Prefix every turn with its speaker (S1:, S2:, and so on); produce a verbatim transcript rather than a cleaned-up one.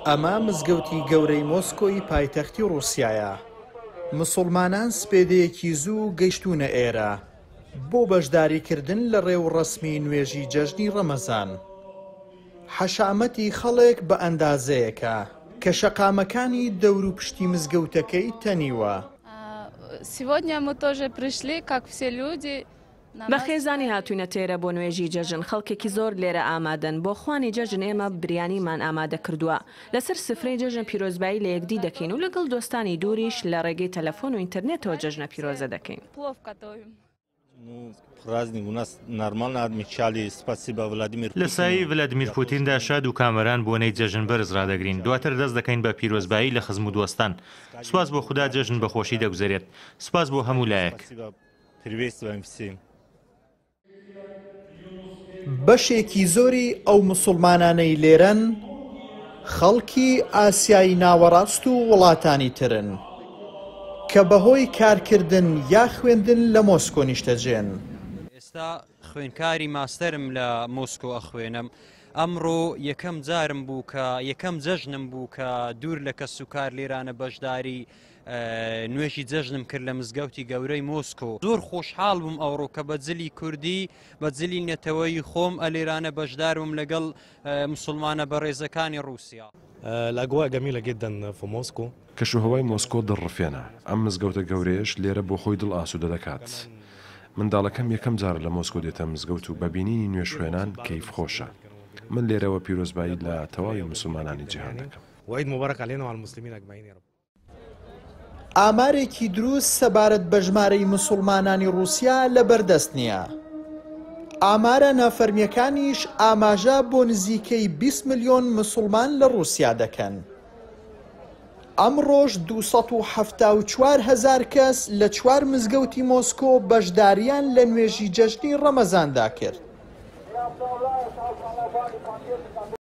S1: ئەمە مزگەوتی گەورەی مۆسکۆی پایتەختی ڕووسیایە. مسوڵمانان سپێدەیەکی زوو گەیشتوونە ئێرە بۆ بەشداریکردن لە ڕێوڕەسمی نوێژی جەژنی ڕەمەزان. حەشامەتی خەڵک بە ئەندازەیەکە کە شەقامەکانی دەور و پشتی مزگەوتەکەی تەنیوە.
S2: Сегодня мы тоже пришли, как все люди.
S3: بە خێزانی هاتووینەتە ئێرە بۆ نوێژی جەژن، خەڵکێکی زۆر لێرە ئامادەن. بۆ خوانی جەژن ئێمە بریانیمان ئامادە کردووە. لەسەر سفرەی جەژن پیرۆزبایی لە یەکدی دەکەین و لەگەڵ دۆستانی دووریش لە ڕێگەی تەلەفۆن و ئینتەرنێتەوە جەژنە پیرۆزە دەکەین.
S2: Плов готовим.
S4: Праздник у нас нормально отмечали. Спасибо Владимир.
S5: لە سایەی ڤلادیمیر پوتیندا شاد و کامەران بۆنەی جەژن بەرز ڕادەگرین. دواتر دەست دەکەین بە پیرۆزبایی لە خزم و دۆستان. سوپاس بۆ خودا جەژن بەخۆشی دەگوزەرێت. سوپاس بۆ هەموو لایەک.
S4: Приветствуем всем.
S1: بەشێکی زۆری ئەو مسوڵمانانەی لێرەن خەڵکی ئاسیای ناوەڕاست و وڵاتانی ترن کە بەهۆی کارکردن یا خوێندن لە مۆسکۆ نیشتەجێن.
S6: ئێستا خوێنکاری ماستەرم لە مۆسکۆ ئەخوێنم. ئەمڕۆ یەکەم جارم بوو کە یەکەم جەژنم بوو کە دوور لە کەس و کار لێرانە بەشداری نوێژی جەژنم کرد لە مزگەوتی گەورەی مۆسکۆ. زۆر خۆشحاڵ بووم ئەوڕۆ کە بە جلی کوردی بە جلی نەتەوەی خۆم ئەلێرانە بەشدار بووم لەگەڵ مسلمانە بەڕێزەکانی ڕووسیا.
S7: الأجواء جميلة جدا في موسكو.
S8: کەشوهەوای مۆسکۆ دڵڕفێنە. ئەم مزگەوتە گەورەیەش لێرە بۆ خۆی دڵ ئاسوودە دەکات. منداڵەکەم یەکەم جارە لە مۆسکۆ دێتە مزگەوت و بە بینینی نوێژخوێنان کەیف خۆشە. من لێرەوە پیرۆزبایی لە تەواوی مسلمانانی جیهان دەکەم.
S7: وعيد مبارك علينا وعلى المسلمين أجمعين يا رب.
S1: ئامارێکی دروست سەبارەت بە ژمارەی مسوڵمانانی ڕووسیا لەبەردەست نییە. ئامارە نافەرمیەکانیش ئاماژە بۆ نزیکەی بیست ملیۆن مسوڵمان لە ڕووسیا دەکەن. ئەمڕۆژ دوو سەد و حەفتا و چوار هەزار کەس لە چوار مزگەوتی مۆسکۆ بەشداریان لە نوێژی جەژنی ڕەمەزاندا کرد.